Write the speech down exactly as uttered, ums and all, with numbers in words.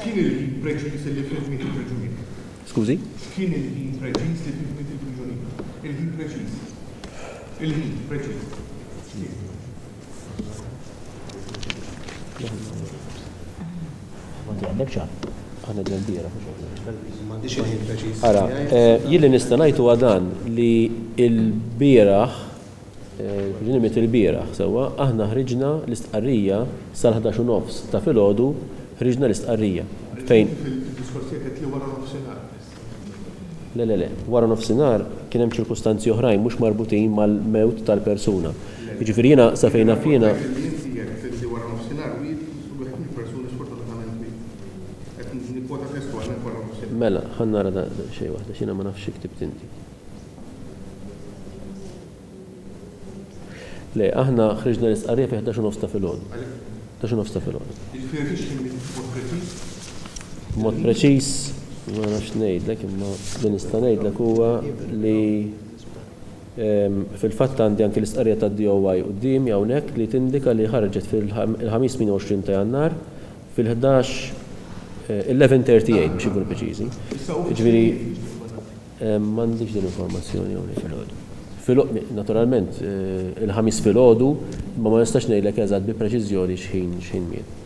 X'kien il-ħin preċiż li fih miet il-priġunier? Skużi? X'kien il-ħin preċiż li fih miet il-priġunier? Il-ħin preċiż. Il-ħin preċiż. X'kien? Għandek ċar? Aħna ġen bieraħ. M'għandix il-ħin preċiż. Ara, jien li nista' ngħid huwa dan li l-bieraħ, il-priġunier miet il-bieraħ sewwa, aħna ħriġna l-istqarrija sal-ħdax u nofs ta' filgħodu, ħriġna l-istqarrija. Fejn? Fil-diskors tiegħek qed li wara nofsinhar. Le, le, le, wara nofsinhar kien hemm ċirkustanzi oħrajn mhux marbutin mal-mewt tal-persuna. Jiġifieri jiena sa fejn naf jiena. Mela, ħa nara da xejn waħda, x'jiena ma nafx xi ktibt inti. Le, aħna ħriġna l-istqarrija fi ħdax u nofs ta' filgħodu. ħdax u nofs ta' filgħodu. Jiġifieri fiex kien b'mod preċiż? B'mod preċiż, ma nafx ngħidlek, imma li nista' ngħidlek huwa li fil-fatt għandi anki l-istqarrija tad-D O I quddiemi hawnhekk li tindika li ħarġet fil-ħamis tmien u għoxrin ta' Jannar fil-ħdax eleven thirty eight biex ikunu preċiżi. Jiġifieri m'għandix din informazzjoni hawnhekk. Filgħodu, naturalment, il-ħamis filgħodu, ma ma nistax ngħidlek eżatt bi preċiżjoni x'ħin x'ħin miet.